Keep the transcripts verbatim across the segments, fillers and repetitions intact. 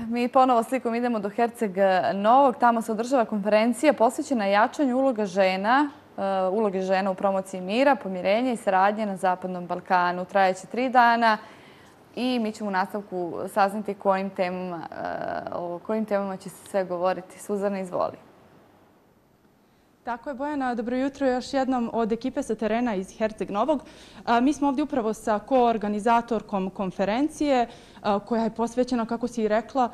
Mi ponovo slikom idemo do Herceg Novog. Tamo se održava konferencija posvećena jačanju uloga žena, uloge žena u promociji mira, pomirenja i saradnje na Zapadnom Balkanu. Trajeće tri dana i mi ćemo u nastavku saznati kojim temama, o kojim temama će se sve govoriti. Suzana, izvoli. Tako je, Bojana. Dobro jutro još jednom od ekipe sa terena iz Herceg Novog. Mi smo ovdje upravo sa koorganizatorkom konferencije koja je posvećena, kako si i rekla,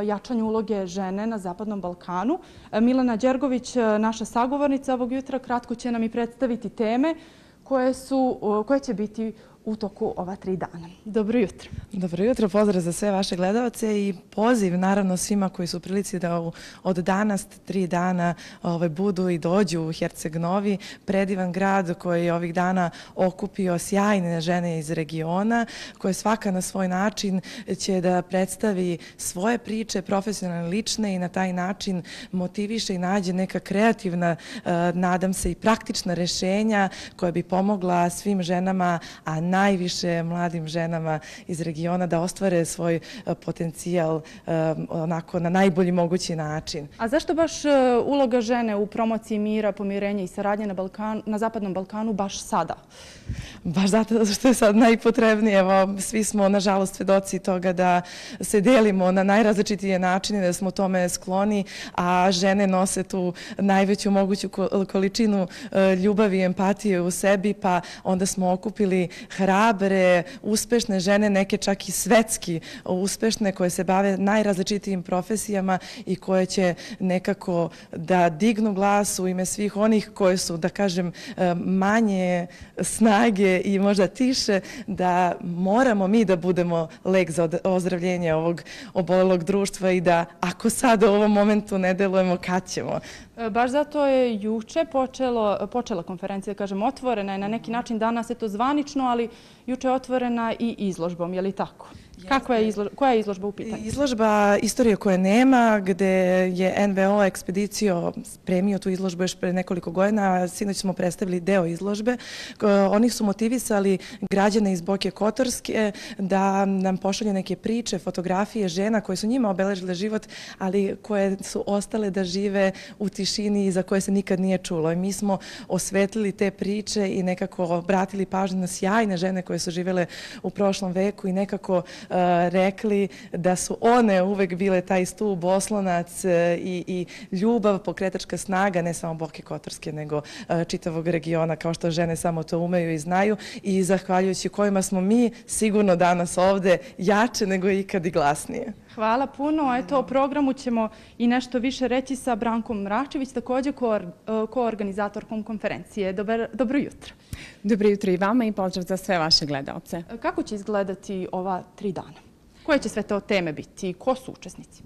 jačanju uloge žene na Zapadnom Balkanu. Milena Đergović, naša sagovornica ovog jutra, kratko će nam i predstaviti teme koje, su, koje će biti u toku ova tri dana. Dobro jutro. Dobro jutro, pozdrav za sve vaše gledalce i poziv naravno svima koji su u prilici da od danas tri dana ovaj, budu i dođu u Herceg Novi, predivan grad koji je ovih dana okupio sjajne žene iz regiona, koje svaka na svoj način će da predstavi svoje priče, profesionalne, lične i na taj način motiviše i nađe neka kreativna, nadam se i praktična rešenja koja bi pomogla svim ženama, a najviše mladim ženama iz regiona da ostvare svoj potencijal onako na najbolji mogući način. A zašto baš uloga žene u promociji mira, pomirenja i saradnje na, Balkan, na Zapadnom Balkanu baš sada? Baš zato što je sad najpotrebnije. Evo, svi smo nažalost svedoci toga da se delimo na najrazličitije načine, da smo tome skloni, a žene nose tu najveću moguću količinu ljubavi i empatije u sebi, pa onda smo okupili hrabre, uspešne žene, neke čak i svetski uspešne, koje se bave najrazličitijim profesijama i koje će nekako da dignu glas u ime svih onih koje su, da kažem, manje snage i možda tiše, da moramo mi da budemo lek za ozdravljenje ovog obolelog društva i da ako sad u ovom momentu ne delujemo, kad ćemo? Baš zato je juče počelo, počela konferencija, da kažem, otvorena je na neki način, danas je to zvanično, ali juče je otvorena i izložbom, je li tako? Kakva je izložba, koja je izložba u pitanju? Izložba Istorije koje nema, gde je en ve o Ekspedicio spremio tu izložbu još pre nekoliko godina. Sinoć smo predstavili deo izložbe. Oni su motivisali građane iz Boke Kotorske da nam pošalju neke priče, fotografije žena koje su njima obeležile život, ali koje su ostale da žive u tišini i za koje se nikad nije čulo. I mi smo osvetlili te priče i nekako obratili pažnju na sjajne žene koje su živele u prošlom veku i nekako rekli da su one uvek bile taj stub, oslonac i, i ljubav, pokretačka snaga, ne samo Boke Kotorske, nego čitavog regiona, kao što žene samo to umeju i znaju i zahvaljujući kojima smo mi sigurno danas ovde jače nego ikad i glasnije. Hvala puno. Eto, o programu ćemo i nešto više reći sa Brankom Mračević, također koorganizatorkom konferencije. Dobar, dobro jutro. Dobro jutro i vama i pozdrav za sve vaše gledalce. Kako će izgledati ova tri dana? Koje će sve to teme biti? Ko su učesnici?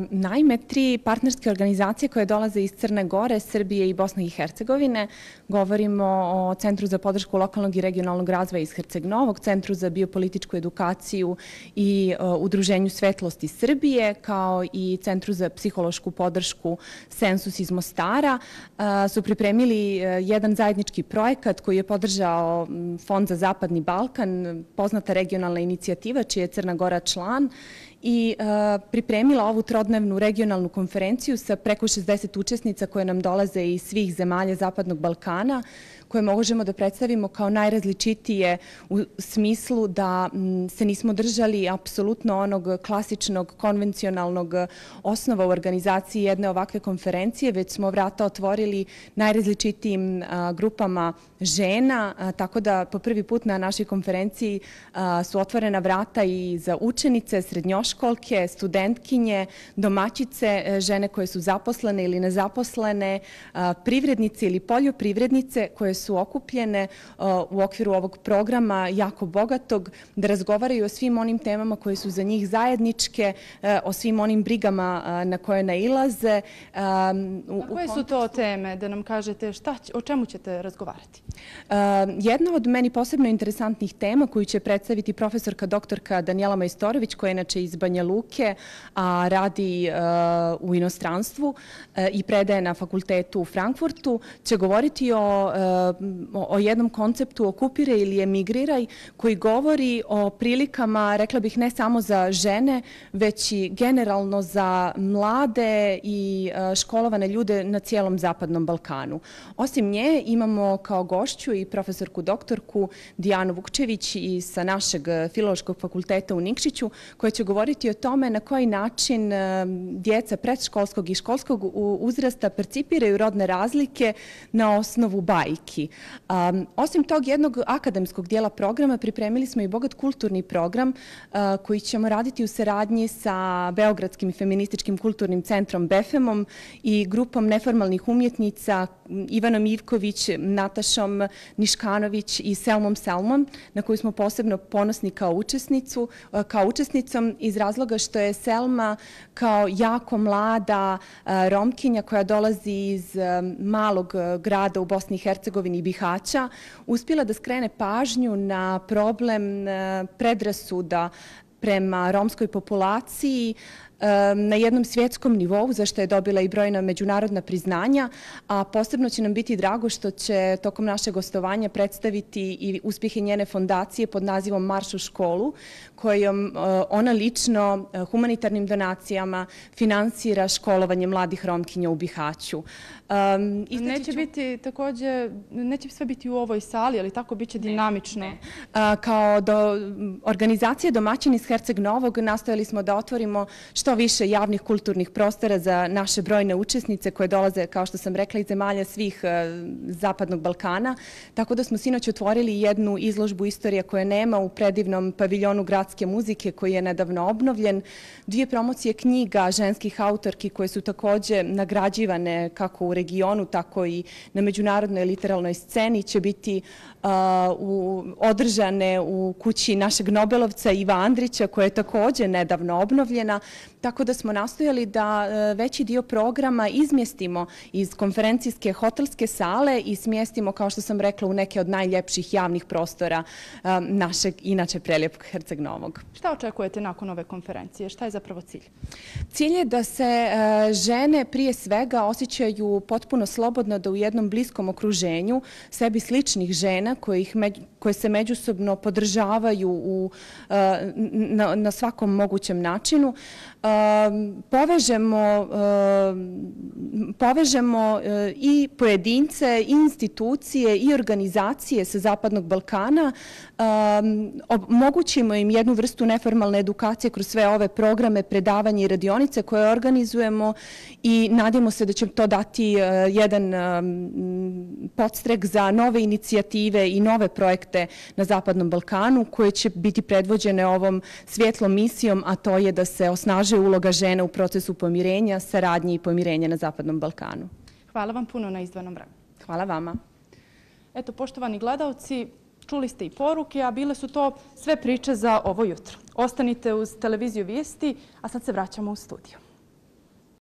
Naime, tri partnerske organizacije koje dolaze iz Crne Gore, Srbije i Bosne i Hercegovine. Govorimo o Centru za podršku lokalnog i regionalnog razvoja iz Herceg Novog, Centru za biopolitičku edukaciju i Udruženju Svetlosti Srbije, kao i Centru za psihološku podršku Sensus iz Mostara, su pripremili jedan zajednički projekat koji je podržao Fond za Zapadni Balkan, poznata regionalna inicijativa čija je Crna Gora član, i pripremila ovu trodnevnu regionalnu konferenciju sa preko šezdeset učesnica koje nam dolaze iz svih zemalja Zapadnog Balkana, koje možemo da predstavimo kao najrazličitije u smislu da se nismo držali apsolutno onog klasičnog, konvencionalnog osnova u organizaciji jedne ovakve konferencije, već smo vrata otvorili najrazličitijim grupama žena, tako da po prvi put na našoj konferenciji su otvorena vrata i za učenice, srednjoškolke, studentkinje, domaćice, žene koje su zaposlene ili nezaposlene, privrednice ili poljoprivrednice koje su okupljene u okviru ovog programa jako bogatog, da razgovaraju o svim onim temama koje su za njih zajedničke, o svim onim brigama na koje nailaze. A koje su to teme, da nam kažete šta, o čemu ćete razgovarati? Jedna od meni posebno interesantnih tema koju će predstaviti profesorka doktorka Danijela Majstorović, koja je inače iz Banja Luke, a radi u inostranstvu i predaje na fakultetu u Frankfurtu, će govoriti o, o jednom konceptu okupiraj ili emigriraj, koji govori o prilikama, rekla bih, ne samo za žene, već i generalno za mlade i školovane ljude na cijelom Zapadnom Balkanu. Osim nje imamo kao gošću i profesorku doktorku Dijanu Vukčević i sa našeg Filološkog fakulteta u Nikšiću, koja će govoriti o tome na koji način djeca predškolskog i školskog uzrasta percipiraju rodne razlike na osnovu bajki. Osim tog jednog akademskog dijela programa, pripremili smo i bogat kulturni program koji ćemo raditi u saradnji sa Beogradskim i feminističkim kulturnim centrom Befemom i grupom neformalnih umjetnica Ivanom Ivković, Natašom Niškanović i Selmom Selmom, na koju smo posebno ponosni kao učesnicu, kao učesnicom iz razloga što je Selma kao jako mlada Romkinja koja dolazi iz malog grada u Bosni i Hercegovini i Bihaća, uspjela da skrene pažnju na problem predrasuda prema romskoj populaciji na jednom svjetskom nivou, za što je dobila i brojna međunarodna priznanja, a posebno će nam biti drago što će tokom našeg gostovanja predstaviti i uspjehe njene fondacije pod nazivom Marš u školu, kojom ona lično humanitarnim donacijama finansira školovanje mladih Romkinja u Bihaću. Neće biti također, neće sve biti u ovoj sali, ali tako bit će dinamično. Kao organizacija domaćin iz Herceg Novog nastojali smo da otvorimo što više javnih kulturnih prostora za naše brojne učesnice koje dolaze, kao što sam rekla, iz zemalja svih Zapadnog Balkana. Tako da smo sinoć otvorili jednu izložbu Istorija koje nema u predivnom paviljonu gradske muzike koji je nedavno obnovljen. Dvije promocije knjiga ženskih autorki koje su također nagrađivane kako u regionu, tako i na međunarodnoj literalnoj sceni će biti održane u kući našeg Nobelovca Iva Andrića, koja je također nedavno obnovljena. Tako da smo nastojali da veći dio programa izmjestimo iz konferencijske hotelske sale i smjestimo, kao što sam rekla, u neke od najljepših javnih prostora našeg inače prelijepog Herceg Novog. Šta očekujete nakon ove konferencije? Šta je zapravo cilj? Cilj je da se žene prije svega osjećaju potpuno slobodno da u jednom bliskom okruženju sebi sličnih žena koje se međusobno podržavaju u, na, na svakom mogućem načinu, povežemo, povežemo i pojedince, i institucije, i organizacije sa Zapadnog Balkana, omogućimo im jednu vrstu neformalne edukacije kroz sve ove programe, predavanje i radionice koje organizujemo i nadamo se da će to dati jedan podstrek za nove inicijative i nove projekte na Zapadnom Balkanu koje će biti predvođene ovom svjetlom misijom, a to je da se osnaži uloga žena u procesu pomirenja, saradnje i pomirenja na Zapadnom Balkanu. Hvala vam puno na izdvojenom vremenu. Hvala vama. Eto, poštovani gledalci, čuli ste i poruke, a bile su to sve priče za ovo jutro. Ostanite uz televiziju Vijesti, a sad se vraćamo u studiju.